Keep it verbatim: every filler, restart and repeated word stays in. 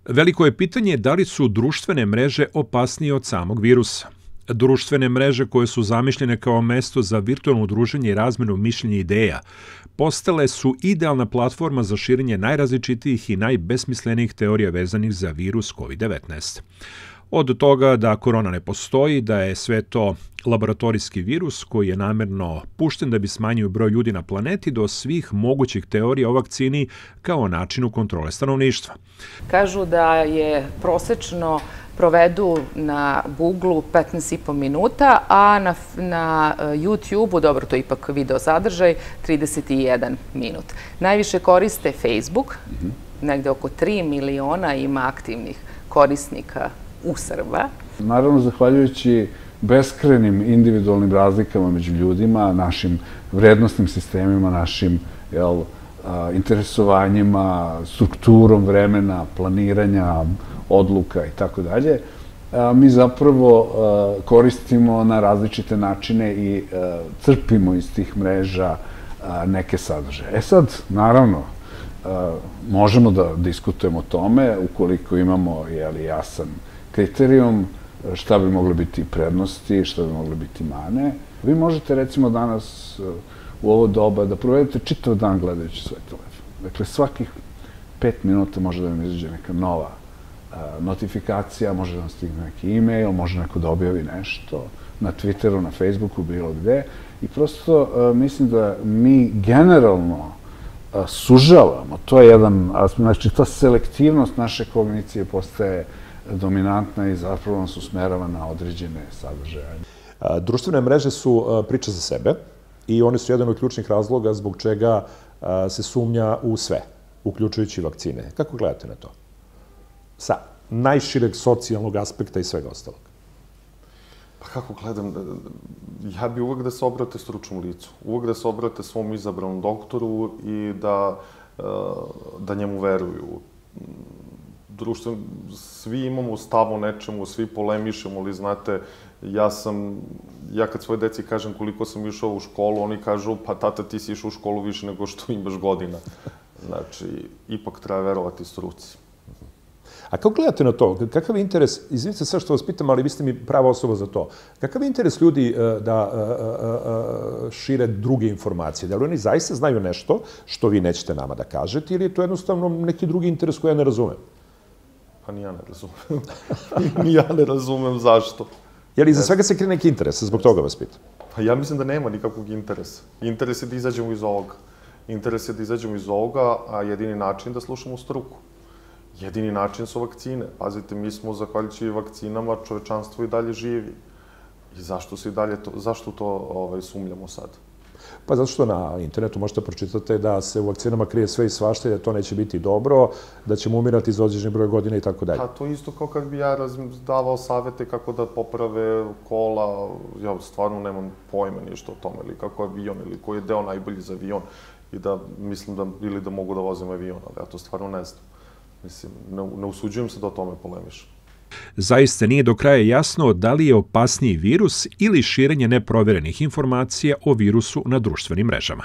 Veliko je pitanje da li su društvene mreže opasnije od samog virusa. Društvene mreže koje su zamišljene kao mesto za virtualno druženje i razmenu mišljenja i ideja postale su idealna platforma za širenje najrazličitijih i najbesmislenijih teorija vezanih za virus kovid devetnaest. Od toga da korona ne postoji, da je sve to laboratorijski virus koji je namerno pušten da bi smanjio broj ljudi na planeti, do svih mogućih teorija o vakcini kao načinu kontrole stanovništva. Kažu da je prosečno provedu na Google-u petnaest i po minuta, a na, na YouTube-u, dobro, to je ipak video sadržaj, trideset jedan minut. Najviše koriste Facebook, mm-hmm. negde oko tri miliona ima aktivnih korisnika u Srba. Naravno, zahvaljujući beskrajnim individualnim razlikama među ljudima, našim vrednostnim sistemima, našim jel, interesovanjima, strukturom vremena, planiranja, odluka i tako dalje, mi zapravo koristimo na različite načine i crpimo iz tih mreža neke sadržaje. E sad, naravno, možemo da diskutujemo o tome ukoliko imamo jeli, jasan kriterijum, šta bi mogli biti prednosti, šta bi mogli biti mane. Vi možete recimo danas u ovo doba da provedete čitav dan gledajući svoj telefon. Dakle, svakih pet minuta može da vam izađe neka nova notifikacija, može da vam stigne neki e-mail, može neko da objavi nešto na Twitteru, na Facebooku, bilo gde. I prosto mislim da mi generalno sužavamo, to je jedan, znači ta selektivnost naše kognicije postaje dominantna i zapravo nas usmerava na određene sadržaje. Društvene mreže su priča za sebe i one su jedan od ključnih razloga zbog čega se sumnja u sve, uključujući vakcine. Kako gledate na to? Sa najšireg socijalnog aspekta i svega ostalog. Pa kako gledam, ja bi uvek da se obrate stručnom licu, uvek da se obrate svom izabranom doktoru i da, da njemu veruju. Društvo, svi imamo stav o nečemu, svi polemišemo, ali znate, ja sam, ja kad svoje deci kažem koliko sam išao u školu, oni kažu, pa tata, ti si išao u školu više nego što imaš godina. Znači, ipak treba verovati struci. A kako gledate na to? Kakav je interes, izvinite sve što vas pitam, ali vi ste mi prava osoba za to, kakav je interes ljudi da šire druge informacije? Da li oni zaista znaju nešto što vi nećete nama da kažete ili je to jednostavno neki drugi interes koji ja ne razumem? Pa ni ja ne razumem. Ni ja ne razumem zašto. Je li iza svega se krije neki interes? Zbog toga vas pitam. Pa ja mislim da nema nikakvog interesa. Interes je da izađemo iz ovoga. Interes je da izađemo iz ovoga, a jedini način da slušamo struku. Jedini način su vakcine. Pazite, mi smo, zahvaljujući vakcinama, čovečanstvo i dalje živi. I zašto se i dalje to, zašto to ovaj, sumljamo sad? Pa zato što na internetu možete pročitati da se u vakcinama krije sve i svašta i da to neće biti dobro, da ćemo umirati za određeni broj godina i tako dalje. A to isto kao kad bi ja davao savete kako da poprave kola, ja stvarno nemam pojma ništa o tome, ili kako avion, ili koji je deo najbolji za avion, i da mislim da, ili da mogu da vozim avion, ali ja to stvarno ne znam. Mislim, ne, ne usuđujem se da o tome polemišem. Zaista nije do kraja jasno da li je opasniji virus ili širenje neproverenih informacija o virusu na društvenim mrežama.